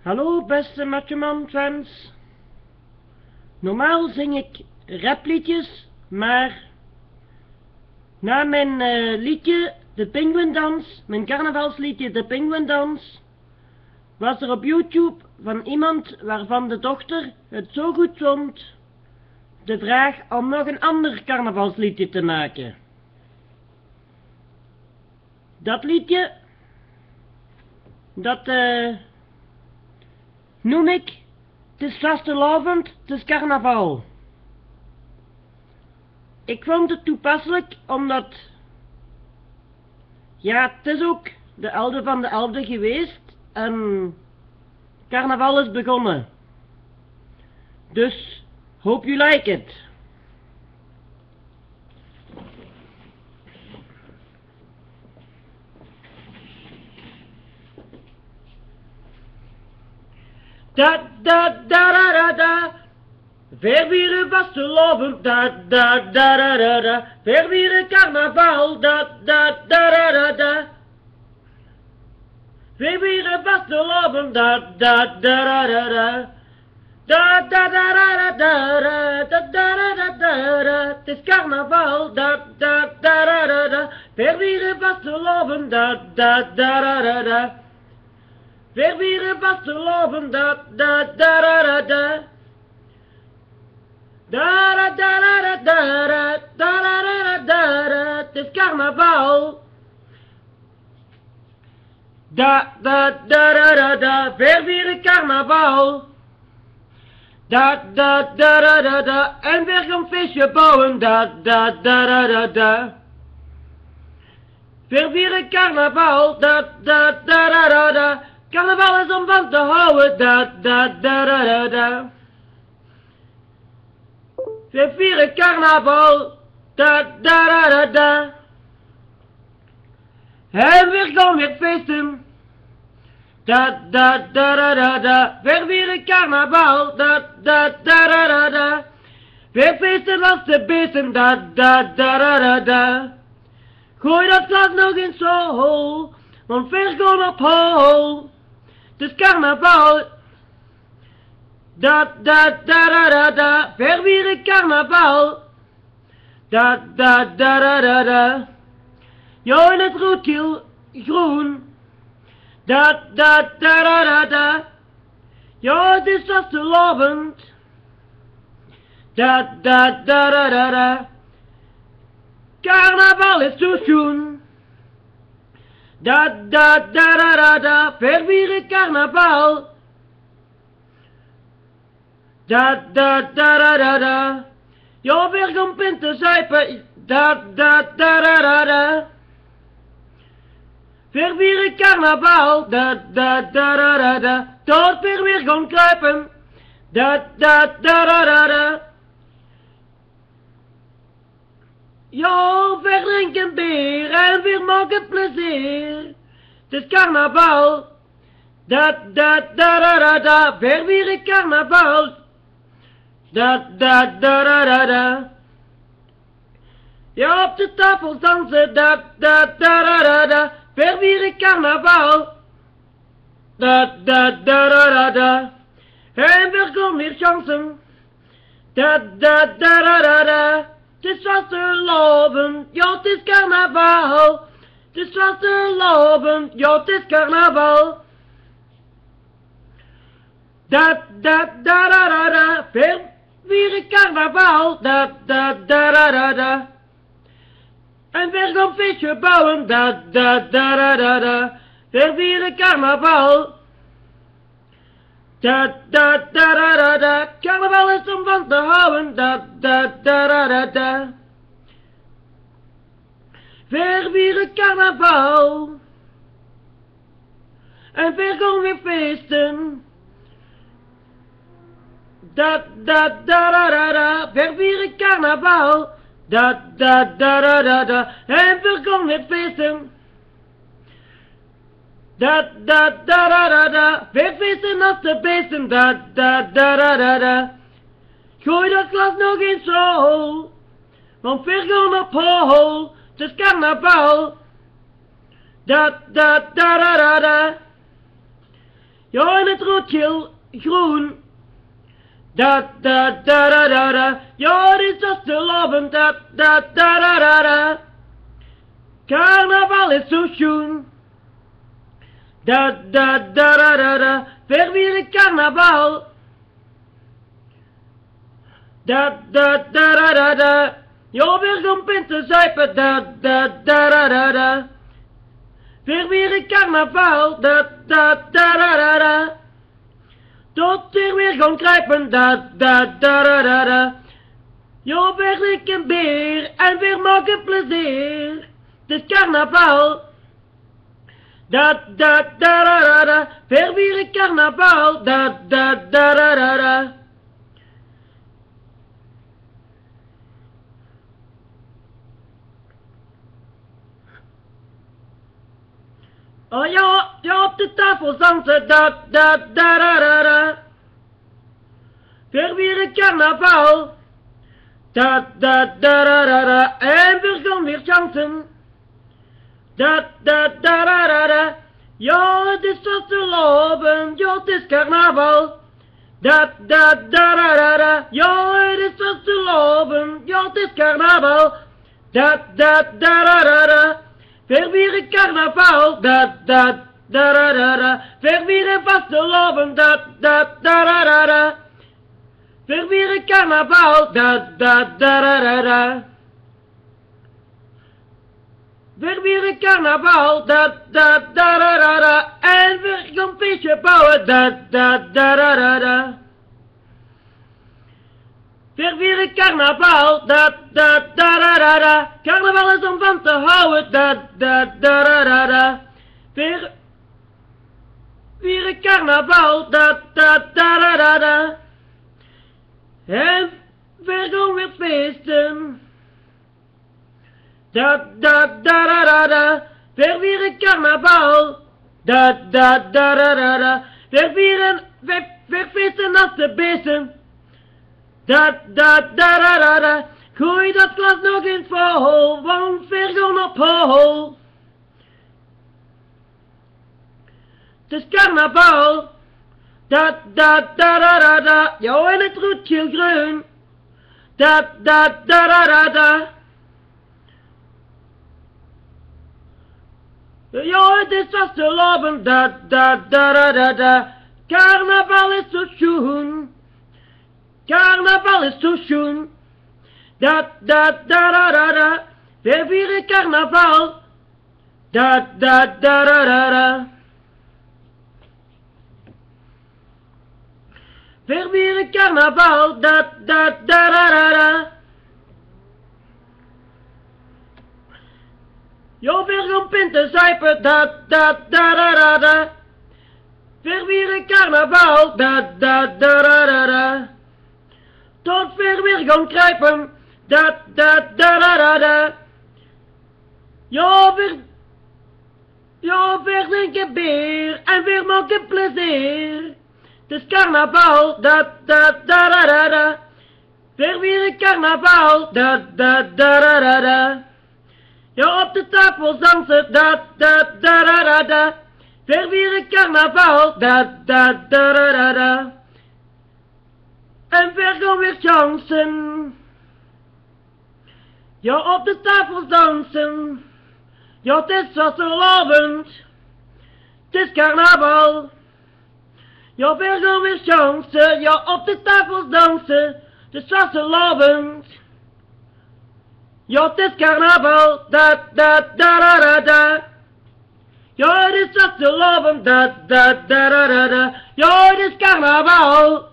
Hallo beste Matjeman fans. Normaal zing ik rapliedjes, maar na mijn liedje De Pinguïndans, mijn carnavalsliedje De Pinguïndans, was er op YouTube van iemand waarvan de dochter het zo goed vond, de vraag om nog een ander carnavalsliedje te maken. Dat liedje, dat noem ik Het is vastelavond, het is carnaval. Ik vond het toepasselijk omdat, ja, het is ook de 11e van de 11e geweest en carnaval is begonnen. Dus, hope you like it. Da da da da da da, vervieren vastelavond, da da da da da da, vervieren carnaval, da da da da da da, vervieren vastelavond, da da da da da da, da da da da da da da da da da da, het is carnaval, da da da da da da, vervieren vastelavond, da da da da da da. Vervieren vastelavond, da da da da da da. Da da da da da da da da da da da. Het is carnaval. Da da da da da da. Vervieren carnaval. Da da da da da da. En weer een feestje bouwen. Da da da da da da. Vervieren carnaval. Da da da da da da. Carnaval is om van te houden, da da da da da da. We vieren carnaval, da da da da da. En weer gaan weer feesten, da da da da da da. We vieren carnaval, da da da da da da. We feesten als de beesten, da da da da da da. Gooi dat glas nog eens zo hoog, want we gaan op hol. Het is carnaval, da da da da da da, vervieren carnaval, da da da da da da. Jo in het roodgeel groen, da da da da da da. Jo het is vastelavond, da da da da da da. Carnaval is zo schoon. Da da da da da da, vervieren carnaval. Da da da da da da, jo weer gaan pinten zuipen. Da da da da da da. Vervieren carnaval. Da da da da da da, tot weer gaan kruipen. Da da da da da da. Jo, verdrinken bier en weer maken plezier. Het is carnaval. Da da da da da da, vervieren carnaval. Da da da da da da. Ja, op de tafel dansen, da da da da da da, vervieren carnaval. Da da da da da da. En weer gaan weer chansen. Da da da da da da. Het is vastelavond, ja het is carnaval. Het is vastelavond, ja het is carnaval. Da da da da da da, vervieren carnaval. Da da da da da da. En weer gaan feestje bouwen. Da da da da da da, vervieren carnaval. Da da da da da da, carnaval is om van te houden, da da da da da da. Vervieren carnaval. En weer gaan weer feesten. Da da da da da da, vervieren carnaval. Da da da da da da, en weer gaan weer feesten. Da da da da da da, weer feesten als de beesten, da da da da da da. Gooi dat glas nog eens zo, want we gaan op hol, het is carnaval. Da da da da da da. Ja, en het roodgeel groen. Da da da da da da. Ja, het is als de loven. Da da da da da da. Carnaval is zo schoon. Da da da da da da. Vervieren carnaval. Da da da da da da. Ja, weer om pint te zuipen. Da da da da da da. Vervieren carnaval. Da da da da da da. Tot er weer gaan kruipen. Da da da da da da. Ja, weer ik een beer en weer maken plezier. Het is carnaval. Da da da da da da. Vervieren carnaval. Da da da da da da. Oh ja, ja, op de tafel dansen. Da da da da da da. Vervieren carnaval. Da da da da da da. En we gaan weer chanten. Da da da da da da. Ja, het is wat te lopen. Ja, het is carnaval. Da da da da da da. Ja, het is wat te lopen. Ja, het is carnaval. Da da da da da da. Vervieren carnaval. Da da da da da da. Vervieren vast te lopen. Da da da da da da. Vervieren carnaval. Da da da da da da. Vervieren carnaval, da da da da da da. En we gaan een feestje bouwen, da da da da da da. Vervieren carnaval, da da da da da da. Carnaval is om van te houden, da da da da da da. Vervieren carnaval, da da da da da da. En we gaan weer feesten. Da da da da da da. Vervieren carnaval. Da da da da da da. Vervieren, verfeesten als de beesten. Da da da da da da. Gooi dat glas nog eens vol, want we gaan op hol. Het is carnaval. Da da da da da da. Ja, en het roodgeel groen. Da da da da da da. Ja, het is vast te lopen, da da da da da da. Carnaval is zo schoon. Carnaval is zo schoon. Da da da da da da. We vieren carnaval. Da da da da da da. We vieren carnaval. Da da da da da da. Jo, weer gaan pinten zuipen, da da da da da da. Vervieren carnaval, da da da da da da. Tot weer gaan kruipen, da da da da da da. Jo, weer drinken bier en weer maken plezier. Het is carnaval, da da da da da da. Vervieren carnaval, da da da da da da. Ja, op de tafel dansen, da da da da da da. Vervieren carnaval, da da da da da da. En we gaan weer chansen. Ja, op de tafel dansen. Ja, het is wat lovend. Het is carnaval. Ja, we gaan weer chansen. Ja, op de tafel dansen. Het is wat lovend. Ja, het is carnaval, da da da da da da. Ja, het is wat te loven, da da da da da da. Ja, het is carnaval.